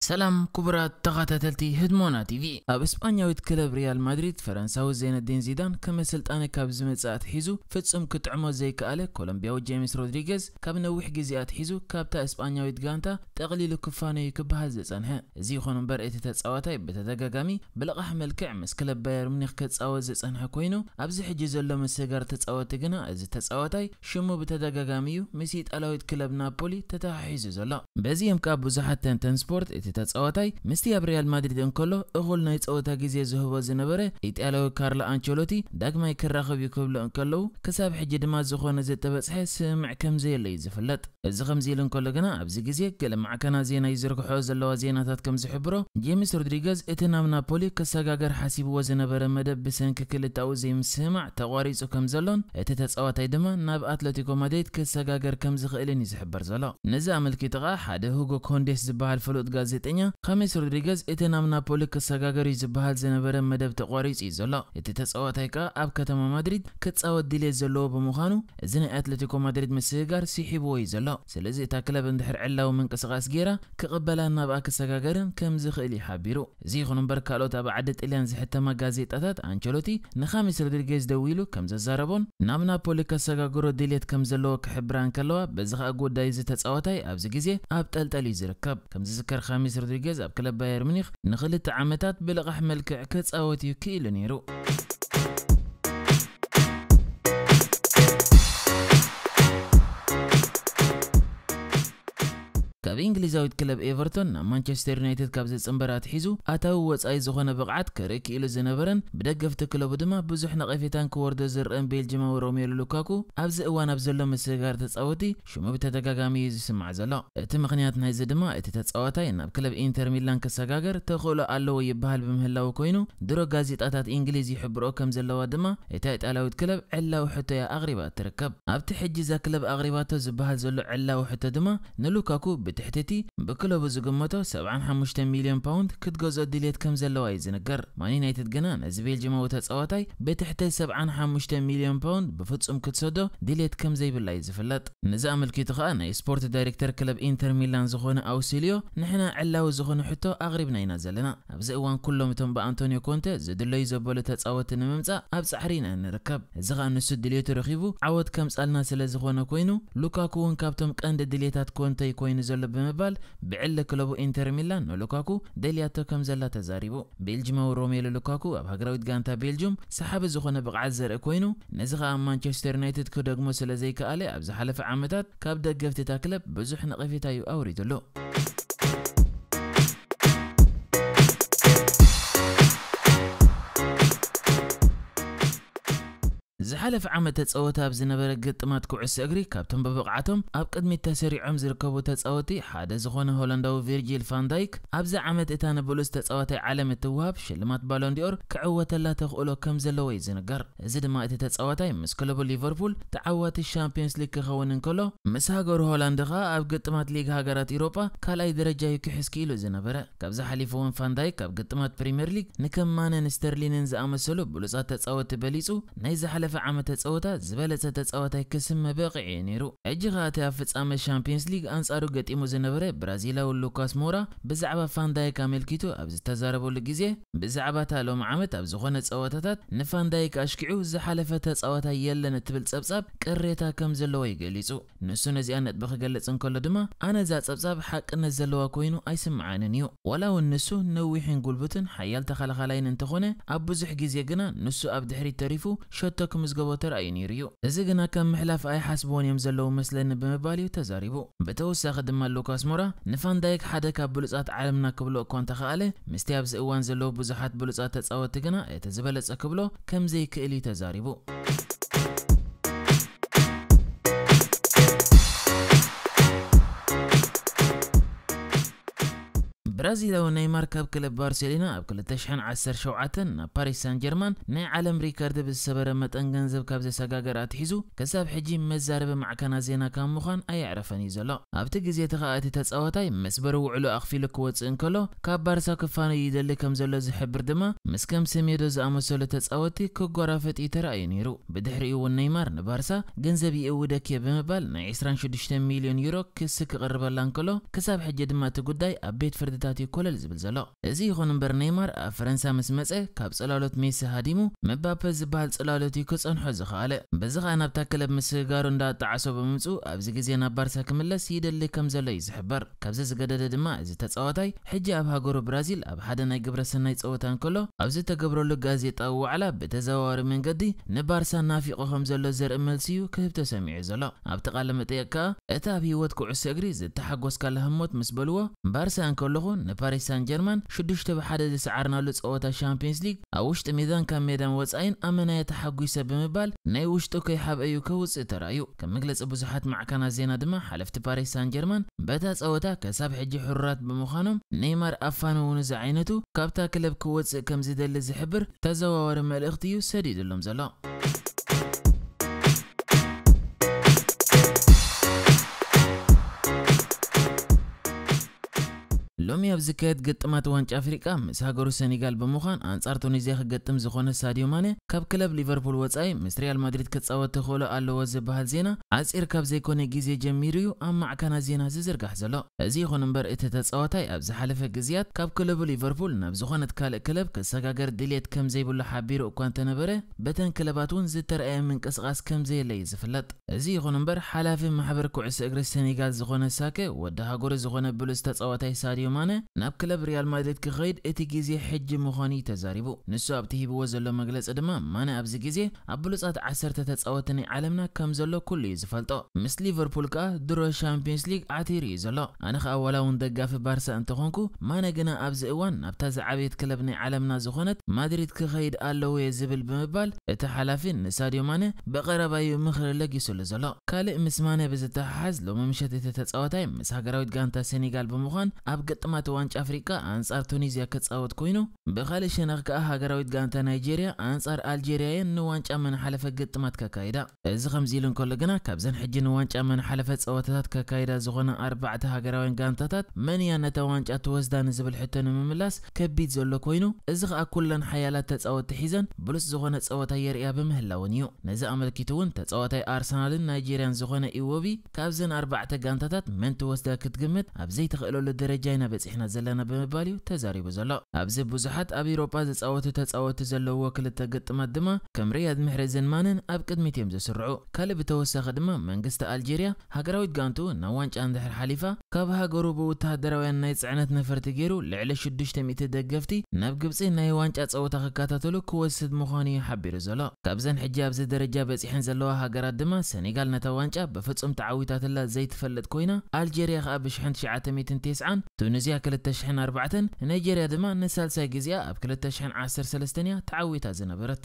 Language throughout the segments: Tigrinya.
ሰላም ክቡራት ተኸታተልቲ ህድሞና ቲቪ። ኣብ እስጳኛዊት ክለብ ሪያል ማድሪድ ፈረንሳዊ ዘይነዲን ዚዳን ከም ኣሰልጣኒ ካብ ዝመጽእ ኣትሒዙ ፍጹም ክጥዕሞ ዘይከኣለ ኮሎምቢያዊ ጄምስ ሮድሪገዝ ካብ ነዊሕ ግዜ ኣትሒዙ ካብታ እስጳኛዊት ጋንታ ጠቕሊሉ ክፋነዩ ክበሃል ዝጸንሐ። እዚ ይኹን እምበር እቲ ተጻዋታይ ብተደጋጋሚ ብልቓሕ መልክዕ ምስ ክለብ ባየር ሙኒክ ክጻወት ዝጸንሐ ኮይኑ ኣብዚ ሕጂ ዘሎ ምስግጋር ተጻወቲ ግና እዚ ተጻዋታይ ሽሙ ብተደጋጋሚ እዩ ምስ ኢጣልያዊት ክለብ ናፖሊ ተተሓሒዙ ዘሎ። በዚ እዮም ከኣ ብዙሓት ተንተን ስፖርት እቲ ተጻዋታይ ምስቲ ኣብ ሪያል ማድሪድ እንከሎ እኹል ናይ ጸወታ ግዜ ዝህቦ ዝነበረ ኢጣልያዊ ካርሎ ኣንቸሎቲ ዳግማይ ክራኸብ እዩ ክብሉ እንከለዉ ክሳብ ሕጂ ድማ ዝኾነ ዝተበጽሐ ስምምዕ ከም ዘየለ እዩ ዝፍለጥ። እዚ ከምዚ ኢሉ እንከሎ ግና ኣብዚ ግዜ ገለ ማዕከናት ዜና ይዝርግሖ ዘለዋ ዜናታት ከም ዝሕብሮ ጄምስ ሮድሪገዝ እቲ ናብ ናፖሊ ክሰጋገር ሓሲብዎ ዝነበረ መደብ ብሰንኪ ክልተኣዊ ዘይምስምማዕ ተቋሪጹ ከም ዘሎን እቲ ተጻዋታይ ድማ ናብ ኣትለቲኮ ማድሪድ ክሰጋገር ከም ዝኽእልን እዩ ዝሕበር ዘሎ። ነዚ ኣመልኪቱ ኸኣ ሓደ ሁጎ ኮንዴስ ዝበሃል ፍሉጥ ጋዜጠኛ ኻሜስ ሮድሪገዝ እቲ ናብ ናፖሊ ክሰጋገር እዩ ዝበሃል ዝነበረ መደብ ተቋሪጹ እዩ ዘሎ። እቲ ተጻዋታይ ከኣ ኣብ ከተማ ማድሪድ ክጻወት ድሌት ዘለዎ ብምዃኑ እዚ ናይ ኣትለቲኮ ማድሪድ ምስግጋር ስሒብዎ እዩ ዘሎ። ስለዚ እታ ክለብ እንድሕር ዕላዊ ምንቅስቓስ ገይራ ክቕበላን ናብኣ ክሰጋገርን ከም ዝኽእል እዩ ሓቢሩ። እዚ ይኹን እምበር ካልኦት ኣብ ዓዲ ጥልያን ዝሕተማ ጋዜጣታት ኣንቸሎቲ ንኻሜስ ሮድሪጌዝ ደዊሉ ከም ዘዛረቦን ናብ ናፖሊ ከሰጋግሮ ድሌት ከም ዘለዎ ክሕብራ እንከለዋ በዚ ኸኣ ጉዳይ እዚ ተጻዋታይ ኣብዚ ግዜ ኣብ ጠልጠል እዩ ዝርከብ። ከም ዝዝከር ኻሜስ ሮድሪጌዝ ኣብ ክለብ ባየር ሙኒክ ንኽልተ ዓመታት ብልቓሕ መልክዕ ክጻወት እዩ ክኢሉ ነይሩ። ካብ እንግሊዛዊት ክለብ ኤቨርቶን ናብ ማንቸስተር ዩናይትድ ካብ ዝጽንበር ኣትሒዙ ኣታዊ ወጻኢ ዝኾነ ብቕዓት ክርኢ ክኢሉ ዝነበረን ብደገፍቲ ክለቡ ድማ ብዙሕ ነቐፌታን ክወርዶ ዝረአን ቤልጅማዊ ሮሜሉ ሉካኩ ኣብዚ እዋን ኣብ ዘሎ ምስግጋር ተጻወቲ ሽሙ ብተደጋጋሚ እዩ ዝስማዕ ዘሎ። እቲ ምኽንያት ናይዚ ድማ እቲ ተጻዋታይ ናብ ክለብ ኢንተር ሚላን ክሰጋገር ተኽእሎ ኣለዎ ይበሃል ብምህላዉ ኮይኑ ድሮ ጋዜጣታት እንግሊዝ ይሕብርኦ ከም ዘለዋ ድማ እታ ኢጣልያዊት ክለብ ዕላዊ ሕቶ እያ ኣቕሪባ እትርከብ። ኣብቲ ሕጂ እዛ ክለብ ኣቕሪባቶ ዝበሃል ዘሎ ዕላዊ ሕቶ ድማ ንሉካኩ ብትሕቲ እቲ ብክለቡ ዝግመቶ ሰብዓን ሓሙሽተ ሚልዮን ፓውንድ ክትገዝኦ ድልየት ከም ዘለዋ እዩ ዝንገር። ማን ዩናይትድ ግና ነዚ ቤልጅማዊ ተጻዋታይ ብትሕቲ ሰብዓን ሓሙሽተ ሚልዮን ፓውንድ ብፍጹም ክትሰዶ ድልየት ከም ዘይብላ እዩ ዝፍለጥ። ነዚ ኣመልኪቱ ኸኣ ናይ ስፖርት ዳይሬክተር ክለብ ኢንተር ሚላን ዝኾነ ኣውሲልዮ ንሕና ዕላዊ ዝኾነ ሕቶ ኣቕሪብና ኢና ዘለና። ኣብዚ እዋን ኩሎም እቶም ብኣንቶኒዮ ኮንተ ዝድለዩ ዘበሉ ተጻወቲ ንምምጻእ ኣብ ጻዕሪ ኢና እንርከብ። እዚ ኸኣ ንሱ ድልየቱ ረኺቡ ዓወት ከምጻልና ስለ ዝኾነ ኮይኑ ሉካኩ እውን ካብቶም ቀንዲ ድልየታት ኮንተ ኮይኑ ዘሎ ብምባል ብዕሊ ክለቡ ኢንተር ሚላን ንሉካኩ ደልያቶ ከም ዘላ ተዛሪቡ። ቤልጅማዊ ሮሜሉ ሉካኩ ኣብ ሃገራዊት ጋንታ ቤልጅም ሰሓቢ ዝኾነ ብቕዓት ዘርኢ ኮይኑ ነዚ ኸኣ ኣብ ማንቸስተር ዩናይትድ ክደግሞ ስለ ዘይከኣለ ኣብ ዝሓለፈ ዓመታት ካብ ደገፍቲ እታ ክለብ ብዙሕ ነቐፌታ እዩ ኣውሪድሉ። ዝሓለፈ ዓመት ተጸወተ ኣብ ዝነበረ ግጥማት ኩዕሶ እግሪ ካብቶም ብብቕዓቶም ኣብ ቅድሚት ተሰሪዖም ዝርከቡ ተጻወቲ ሓደ ዝኾነ ሆላንዳዊ ቪርጂል ፋን ዳይክ ኣብዚ ዓመት እታ ንብሉጽ ተጻዋታይ ዓለም እትወሃብ ሽልማት ባሎን ዲኦር ክዕወተላ ተኽእሎ ከም ዘለዎ እዩ ዝንገር። እዚ ድማ እቲ ተጻዋታይ ምስ ክለቡ ሊቨርፑል ተዓዋቲ ሻምፒዮንስ ሊግ ክኸውን እንከሎ ምስ ሃገሩ ሆላንድ ኸኣ ኣብ ግጥማት ሊግ ሃገራት ኢሮጳ ካልኣይ ደረጃ እዩ ክሕዝ ክኢሉ ዝነበረ። ካብዚ ሓሊፉ እውን ፋን ዳይክ ኣብ ግጥማት ፕሪምየር ሊግ ንከም ማነን ስተርሊንን ዝኣመሰሉ ብሉጻት ተጻወቲ በሊጹ ናይ ዝሓለፈ ዓመት ተጻወታ ዝበለጸ ተጻዋታይ ክስመ በቒዑ እዩ ነይሩ። ሕጂ ኸኣ እቲ ኣብ ፍጻመ ሻምፒዮንስ ሊግ ኣንጻሩ ገጢሙ ዝነበረ ብራዚላዊ ሉካስ ሞራ ብዛዕባ ፋን ዳይክ ኣመልኪቱ ኣብ ዝተዛረበሉ ግዜ ብዛዕባ እታ ሎም ዓመት ኣብ ዝኾነ ጸወታታት ንፋን ዳይክ ኣሽኪዑ ዝሓለፈ ተጻዋታይ የለን እትብል ጸብጻብ ቅሬታ ከም ዘለዎ እዩ ገሊጹ። ንሱ ነዚኣ ነጥቢ ክገልጽ እንከሎ ድማ ኣነ እዛ ጸብጻብ ሓቅነት ዘለዋ ኮይኑ ኣይስምዓንን እዩ። ዋላ እውን ንሱ ነዊሕን ጉልቡትን ሓያል ተኸላኻላይን እንተኾነ ኣብ ብዙሕ ግዜ ግና ንሱ ኣብ ድሕሪት ተሪፉ ሸቶ ክምዝገቦ ተራእዩ ነይሩ እዩ። እዚ ግና ከም ምሕላፍ ኣይሓስብዎን እዮም ዘለዉ መስለኒ ብምባል እዩ ተዛሪቡ። ብተወሳኺ ድማ ሉካስ ሞራ ንፋን ዳይክ ሓደ ካብ ብሉጻት ዓለምና ክብሎ እኳ እንተኸኣለ ምስቲ ኣብዚ እዋን ዘለዉ ብዙሓት ብሉጻት ተጻወቲ ግና እቲ ዝበለጸ ክብሎ ከም ዘይክእል እዩ ተዛሪቡ። ብራዚላዊ ኔይማር ካብ ክለብ ባርሴሎና ኣብ ክልተ ሽሕን ዓሰርተ ሸውዓተን ናብ ፓሪስ ሳን ጀርማን ናይ ዓለም ሪከርድ ብዝሰበረ መጠን ገንዘብ ካብ ዘሰጋገር ኣትሒዙ ክሳብ ሕጂ መዛረቢ ማዕከናት ዜና ካብ ምዃን ኣየዕረፈን እዩ ዘሎ። ኣብቲ ግዜ እቲ ኸኣ እቲ ተጻዋታይ መስበሪ ውዕሉ ኣኽፊሉ ክወጽእ እንከሎ ካብ ባርሳ ክፋነዩ ይደሊ ከም ዘሎ ዝሕብር ድማ ምስ ከም ሰሜዶ ዝኣመሰሉ ተጻወቲ ክጓራፈጥ እዩ ተራእዩ ነይሩ። ብድሕሪኡ እውን ኔይማር ንባርሳ ገንዘብ ይእውደክ እየ ብምባል ናይ ዕስራን ሽዱሽተ ሚልዮን ዩሮ ክሲ ክቕርበላ እንከሎ ክሳብ ሕጂ ድማ እቲ ጉዳይ ኣብ ቤት ፍርድታት እዩ ኮለል ዝብል ዘሎ። እዚ ይኹን እምበር ኔይማር ኣብ ፈረንሳ ምስ መጸ ካብ ጽላሎት ሜሲ ሃዲሙ ምባፔ ዝበሃል ጽላሎት እዩ ክጸንሖ ዝኸኣለ። በዚ ኸኣ ናብታ ክለብ ምስግጋሩ እንዳኣጣዓሶ ብምምጽኡ ኣብዚ ግዜ ናብ ባርሳ ክምለስ ይደሊ ከም ዘሎ እዩ ዝሕበር። ካብዚ ዝገደደ ድማ እዚ ተጻዋታይ ሕጂ ኣብ ሃገሩ ብራዚል ኣብ ሓደ ናይ ግብረ ሰናይ ጸወታ እንከሎ ኣብ ዝተገብረሉ ጋዜጣዊ ዋዕላ ብተዘዋዋሪ መንገዲ ንባርሳ ናፊቑ ከም ዘሎ ዘርኢ መልሲ እዩ ክህብ ተሰሚዑ ዘሎ። ኣብቲ ቃለ መጠየቅ ከኣ እቲ ኣብ ህይወት ኩዕሶ እግሪ ዝተሓጎስካላ ህሞት ምስ በልዎ፣ ባርሳ እንከለኹ ንፓሪስ ሳን ጀርማን ሽዱሽተ ብሓደ ዝሰዓርናሉ ጸወታ ሻምፒዮንስ ሊግ ኣብ ውሽጢ ሜዳን ካብ ሜዳን ወጻኢን ኣመናየ ተሓጒሰ ብምባል ናይ ውሽጡ ከይሓብአ እዩ ከውጽእ ተራእዩ። ከም መግለጺ ብዙሓት ማዕከናት ዜና ድማ ሓለፍቲ ፓሪስ ሳን ጀርማን በታ ጸወታ ከሳብ ሕጂ ሕሩራት ብምዃኖም ኔይማር ኣፋነውኑ ዝዓይነቱ ካብታ ክለብ ክወጽእ ከም ዝደሊ ዝሕብር ተዘዋዋሪ መልእኽቲ እዩ ሰዲድሎም ዘሎ። ሎሚ ኣብ ዝካየድ ግጥማት ዋንጫ ኣፍሪቃ ምስ ሃገሩ ሰኔጋል ብምዃን ኣንጻር ቱኒዝያ ክገጥም ዝኾነ ሳዲዮ ማነ ካብ ክለብ ሊቨርፑል ወጻኢ ምስ ሪያል ማድሪድ ክጻወት ተኽእሎ ኣለዎ ዝበሃል ዜና ዓጺር ካብ ዘይኮነ ግዜ ጀሚሩ እዩ ኣብ ማዕከናት ዜና ዝዝርጋሕ ዘሎ። እዚ ይኹን እምበር እቲ ተጻዋታይ ኣብ ዝሓለፈ ግዜያት ካብ ክለቡ ሊቨርፑል ናብ ዝኾነት ካልእ ክለብ ክሰጋገር ድልየት ከም ዘይብሉ ሓቢሩ እኳ እንተነበረ በተን ክለባት እውን ዝተረኣየ ምንቅስቓስ ከም ዘየለ እዩ ዝፍለጥ። እዚ ይኹን እምበር ሓላፊ ማሕበር ኩዕሶ እግሪ ሰኔጋል ዝኾነ ሳከ ወዲ ሃገሩ ዝኾነ ብሉጽ ተጻዋታይ ሳዲዮ ማነ ናብ ክለብ ሪያል ማድሪድ ክኸይድ እቲ ግዜ ሕጂ ምዃኑ እዩ ተዛሪቡ። ንሱ ኣብቲ ሂብዎ ዘሎ መግለጺ ድማ ማነ ኣብዚ ግዜ ኣብ ብሉጻት ዓሰርተ ተጻወቲ ናይ ዓለምና ከም ዘሎ ኩሉ እዩ ዝፈልጦ። ምስ ሊቨርፑል ከኣ ድሮ ሻምፒዮንስ ሊግ ዓቲሩ እዩ ዘሎ። ኣነ ከኣ ዋላ እውን ደጋፊ ባርሳ እንተኾንኩ ማነ ግና ኣብዚ እዋን ናብታ ዝዓበየት ክለብ ናይ ዓለምና ዝኾነት ማድሪድ ክኸይድ ኣለዎ እየ ዝብል ብምባል እቲ ሓላፊ ንሳድዮ ማነ ብቐረባ እዩ ምኽሪ ለጊሱሉ ዘሎ። ካልእ ምስ ማነ ብዝተሓሓዝ ሎሚ ምሸት እቲ ተጻዋታይ ምስ ሃገራዊት ጋንታ ሴኔጋል ብምዃን ኣብ ግጥማት ዋንጫ ኣፍሪቃ ኣንጻር ቱኒዝያ ክጻወት ኮይኑ ብኻልእ ሸነኽ ከኣ ሃገራዊት ጋንታ ናይጄርያ ኣንጻር ኣልጄርያ እየን ንዋንጫ መናሓለፈ ግጥማት ከካይዳ። እዚ ከምዚ ኢሉ እንከሎ ግና ካብዘን ሕጂ ንዋንጫ መናሓለፈ ጸወታታት ከካይዳ ዝኾና ኣርባዕተ ሃገራውያን ጋንታታት መን እያ ነታ ዋንጫ ትወስዳ ንዝብል ሕቶ ንምምላስ ከቢድ ዘሎ ኮይኑ እዚ ከኣ ኩለን ሓያላት ተጻወትቲ ሒዘን ብሉጽ ዝኾነ ጸወታ የርእያ ብምህላውን እዩ። ነዚ ኣመልኪቱ እውን ተጻዋታይ ኣርሰናልን ናይጄርያን ዝኾነ ኢዎቢ ካብዘን ኣርባዕተ ጋንታታት መን ትወስዳ ክትግምት ኣብ ዘይትኽእለሉ ደረጃ ኢና በጺሕና ዘለና ብምባል እዩ ተዛሪቡ ዘሎ። ኣብዚ ብዙሓት ኣብ ኢሮጳ ዝጻወቱ ተጻወትቲ ዘለውዎ ክልተ ግጥማት ድማ ከም ሪያድ ምሕረዝን ማነን ኣብ ቅድሚት እዮም ዝስርዑ። ካልእ ብተወሳኺ ድማ መንግስቲ ኣልጄርያ ሃገራዊት ጋንቱ ናብ ዋንጫ እንድሕር ሓሊፋ ካብ ሃገሩ ብወተሃደራውያን ናይ ጽዕነት ነፈርቲ ገይሩ ልዕሊ ሽዱሽተ ሚእቲ ደገፍቲ ናብ ግብጺ ናይ ዋንጫ ጸወታ ክከታተሉ ክወስድ ምዃኑ እዩ ሓቢሩ ዘሎ። ካብዘን ሕጂ ኣብዚ ደረጃ በጺሐን ዘለዋ ሃገራት ድማ ሰኔጋል ነታ ዋንጫ ብፍጹም ተዓዊታትላ ዘይትፈልጥ ኮይና ኣልጄርያ ከኣ ብሽሕን ትሽዓተ ሚእትን ተስዓን ቱኒዝያ ክልተ ሽሕን ኣርባዕተን ናይጄርያ ድማ ንሳልሳይ ግዜኣ ኣብ ክልተ ሽሕን ዓሰርተ ሰለስተን እያ ተዓዊታ ዝነበረት።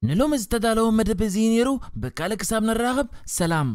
ንሎሚ ዝተዳለወ መደብ እዚ ነይሩ። ብካልእ ክሳብ ንራኸብ ሰላም።